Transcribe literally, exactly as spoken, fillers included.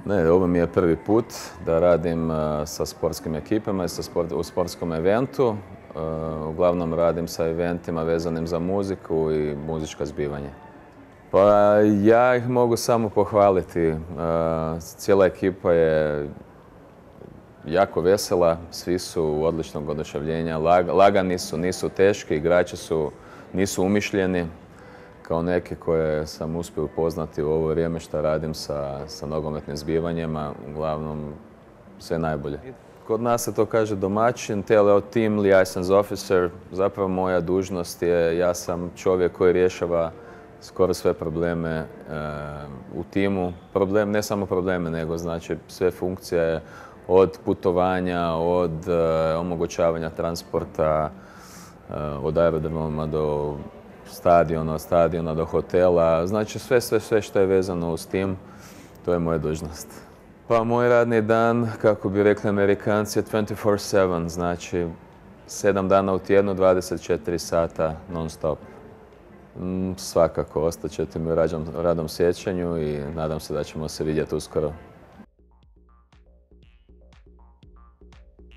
Ne, ovo mi je prvi put da radim sa sportskim ekipama i sa sport, u sportskom eventu. Uglavnom radim sa eventima vezanim za muziku i muzička zbivanja. Pa ja ih mogu samo pohvaliti. Cijela ekipa je jako vesela, svi su odličnog oduševljenja, lagani su, nisu teški, igrači su, nisu umišljeni. Kao neke koje sam uspio upoznati u ovo vrijeme što radim sa, sa nogometnim zbivanjima, uglavnom sve najbolje. Kod nas se to kaže domaćin, T L O Team Liaison Officer. Zapravo moja dužnost je, ja sam čovjek koji rješava skoro sve probleme e, u timu. Problem, ne samo probleme, nego znači sve funkcije od putovanja, od e, omogućavanja transporta, e, od aerodroma do stadiona, od stadiona do hotela. Znači sve, sve, sve što je vezano uz tim, to je moja dužnost. Pa moj radni dan, kako bi rekli Amerikanci, je dvanaest četiri sedam, znači sedam dana u tjednu, dvadeset četiri sata non stop. Mm, svakako, ostaćete mi u radom sjećanju i nadam se da ćemo se vidjeti uskoro.